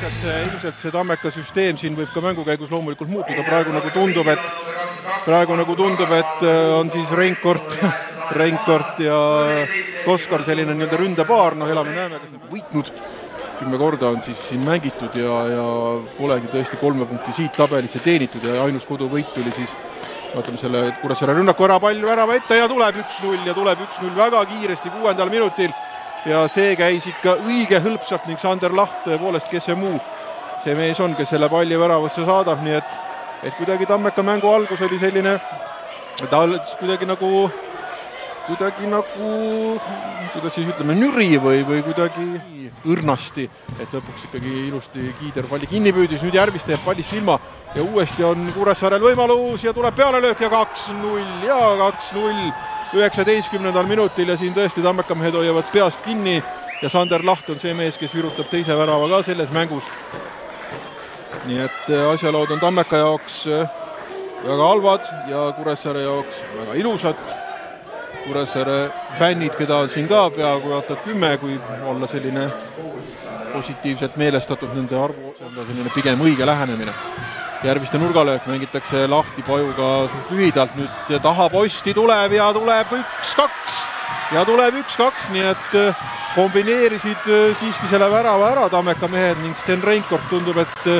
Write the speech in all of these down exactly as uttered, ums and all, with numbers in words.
ilmselt see, ilmselt see Tammeka süsteem siin võib ka mängu käigus loomulikult muutuda. Praegu nagu tundub, et, praegu nagu tundub, et on siis Reinkord, Reinkord ja Koskor selline nii-öelda ründepaar. No elame näeme, kes on võitnud. Kümme korda on siis siin mängitud ja, ja polegi tõesti kolme punkti siit tabelisse teenitud ja ainus koduvõit tuli siis vaatame selle Kuressaare rünnaku ära palju värava ette ja tuleb üks null ja tuleb üks null väga kiiresti kuuendal minutil ja see käis ikka õige hõlpsalt ning Sander Laht tõepoolest, kes see muu see mees on, kes selle palli väravasse saadab, nii et, et kuidagi Tammeka mängu algus oli selline ta kuidagi nagu kuidagi nagu kuidas siis ütleme, nüri või, või kuidagi õrnasti, et lõpuks ikkagi ilusti Kiider palli kinni püüdis, nüüd Järviste jääb pallist ilma ja uuesti on Kuressaarel võimalus ja tuleb pealelöök ja kaks null ja kaks null üheksateistkümnendal minutil ja siin tõesti Tammeka mehed hoiavad peast kinni ja Sander Laht on see mees, kes virutab teise värava ka selles mängus. Nii et asjalood on Tammeka jaoks väga halvad ja Kuressaare jaoks väga ilusad. Kuressaare fännid, keda on siin ka peaaegu aastat kümme, kui olla selline positiivselt meelestatud nende arvu, see on selline pigem õige lähenemine. Järviste nurgalöök mängitakse Lahti pajuga lühidalt, nüüd taha posti tuleb ja tuleb üks kaks ja tuleb üks kaks, nii et kombineerisid siiski selle värava ära Tammeka mehed ning Sten Reinkord tundub, et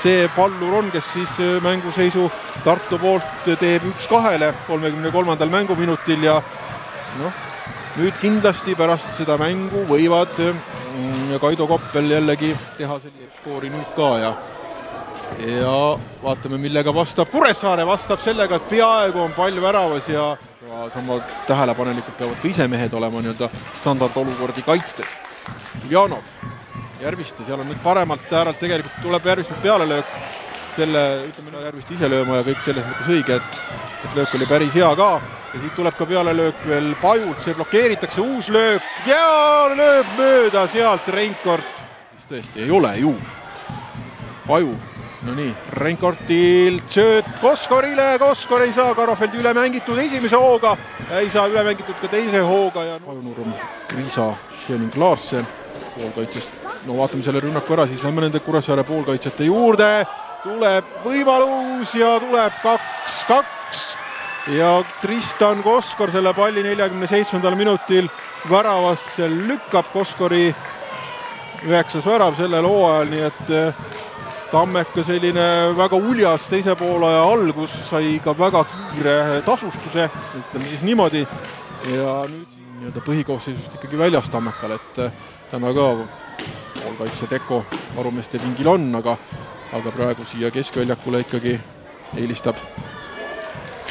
see pallur on, kes siis mänguseisu Tartu poolt teeb üks kahele kolmekümne kolmandal mänguminutil ja noh, nüüd kindlasti pärast seda mängu võivad ja Kaido Koppel jällegi teha sellise skoori nüüd ka ja ja vaatame, millega vastab Kuressaare, vastab sellega, et peaaegu on pall väravas ja sama tähelepanelikult peavad ka ise mehed olema nii-öelda standardolukordi kaitstes. Uljanov, Järviste, seal on nüüd paremalt ääralt tegelikult tuleb Järvistelt pealelöök selle, ütleme Järviste ise lööma ja kõik selles mõttes õige, et, et löök oli päris hea ka ja siit tuleb ka pealelöök veel Pajult, see blokeeritakse uus löök ja lööb mööda sealt Reinkord, siis tõesti ei ole ju Paju, no nii, Reinkordilt sööt Koskorile, Koskor ei saa Karofeldi üle mängitud esimese hooga, ei saa üle mängitud ka teise hooga ja Pajunurm, Kriisa, Schöning, Larsen poolkaitsest, no vaatame selle rünnaku ära, siis lähme nende Kuressaare poolkaitsjate juurde, tuleb võimalus ja tuleb kaks kaks ja Tristan Koskor selle palli neljakümne seitsmendal minutil väravasse lükkab Koskori üheksas värav sellel hooajal, nii et Tammeka selline väga uljas teise poolaja algus sai ka väga kiire tasustuse, ütleme siis niimoodi ja nüüd nii-öelda põhikoosseisust ikkagi väljas Tammekal, et täna ka poolkaitse Teko varumeeste pingil on, aga, aga praegu siia keskväljakule ikkagi eelistab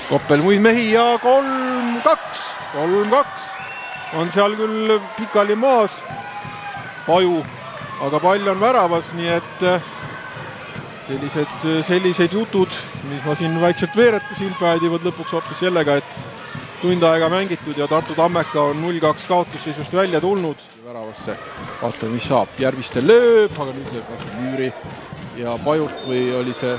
Koppel muid mehi ja kolm kaks, kolm kaks on seal küll pikali maas Paju, aga pall on väravas, nii et sellised, sellised jutud, mis ma siin vaikselt veeretasin, päädivad lõpuks hoopis sellega, et tund aega mängitud ja Tartu Tammeka on null kaks kaotusseisust välja tulnud väravasse. Vaatame, mis saab. Järviste lööb, aga nüüd lööb vastu Müüri ja Pajult või oli see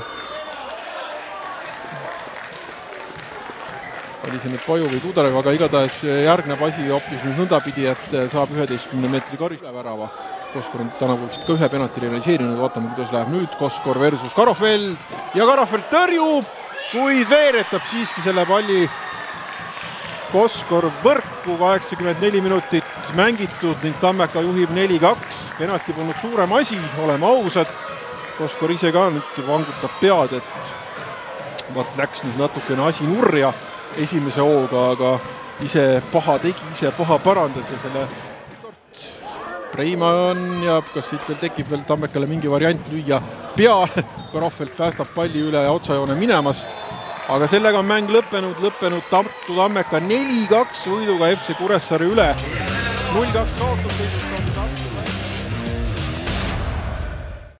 oli see nüüd Paju või Tudarev, aga igatahes järgneb asi hoopis nüüd nõndapidi, et saab üheteistkümne meetri karjus värava. Koskor on täna võiks ka ühe penalti realiseerinud, vaatame, kuidas läheb nüüd Koskor versus Karofeld ja Karofeld tõrjub, kuid veeretab siiski selle palli Koskor võrku, kaheksakümmend neli minutit mängitud ning Tammeka juhib neli kaks, penalti polnud suurem asi, oleme ausad, Koskor ise ka nüüd vangutab pead, et vaat läks nüüd natukene asi nurja esimese hooga, aga ise paha tegi, ise paha parandas ja selle Preima on ja kas siit veel tekib veel Tammekale mingi variant lüüa peale, Karofeld päästab palli üle ja otsajoone minemast, aga sellega on mäng lõppenud, lõppenud Tartu Tammeka neli kaks võiduga F C Kuressaare üle, null kaks kaotusseisust on